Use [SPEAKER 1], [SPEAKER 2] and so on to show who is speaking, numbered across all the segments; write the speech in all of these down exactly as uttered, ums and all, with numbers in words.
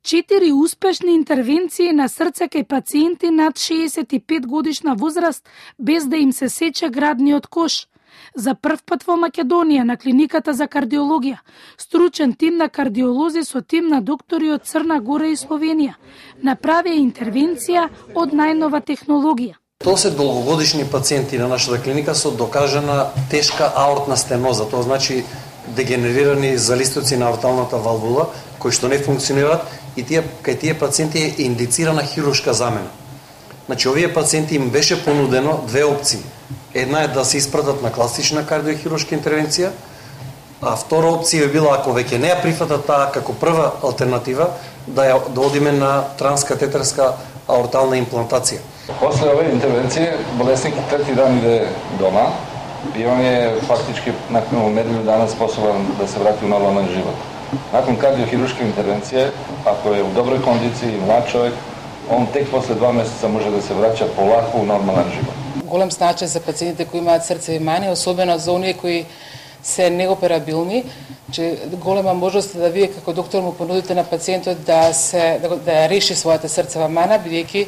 [SPEAKER 1] Четири успешни интервенции на срце кај пациенти над шеесет и пет годишна возраст без да им се сече градниот кош. За прв пат во Македонија на клиниката за кардиологија, стручен тим на кардиолози со тим на доктори од Црна Гора и Словенија направија интервенција од најнова технологија.
[SPEAKER 2] Тоа се долгогодишни пациенти на нашата клиника со докажана тешка аортна стеноза, тоа значи дегенерирани залистоци на аорталната валвула кои што не функционираат и тие кај тие пациенти е индицирана хируршка замена. Значи овие пациенти им беше понудено две опции. Една е да се испратат на класична кардиохируршка интервенција, а втора опција е била ако веќе не ја прифатат таа како прва алтернатива, да ја да одиме на транскатетерска аортална имплантација.
[SPEAKER 3] После овие интервенции болесник трети дан иде дома и он е фактички након неделю дана способен да се врати у нормален живот. Након кардиохируршка интервенција, ако е у доброј кондиција и млад човек, он тек после два месеца може да се враќа полако у нормален живот.
[SPEAKER 4] Голем значај за пациентите кои имаат срцеви мани, особено за оние кои се неоперабилни, че голема можност да вие како доктор му понудите на пациентот да се да, да реши својата срцева мана, бидејќи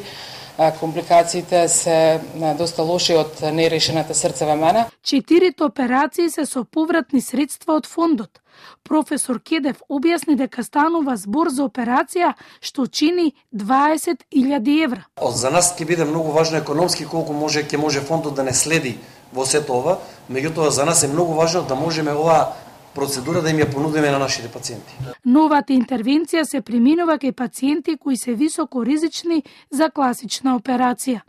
[SPEAKER 4] компликациите се доста лоши од нерешената срцева мана.
[SPEAKER 1] Четирите операции се со повратни средства од фондот. Професор Кедев објасни дека станува збор за операција што чини дваесет илјади евра.
[SPEAKER 2] За нас ќе биде многу важно економски колку може ќе може фондот да не следи во сето ова, меѓутоа за нас е многу важно да можеме оваа процедура да им ја понудиме на нашите пациенти.
[SPEAKER 1] Новата интервенција се применува кај пациенти кои се високо ризични за класична операција.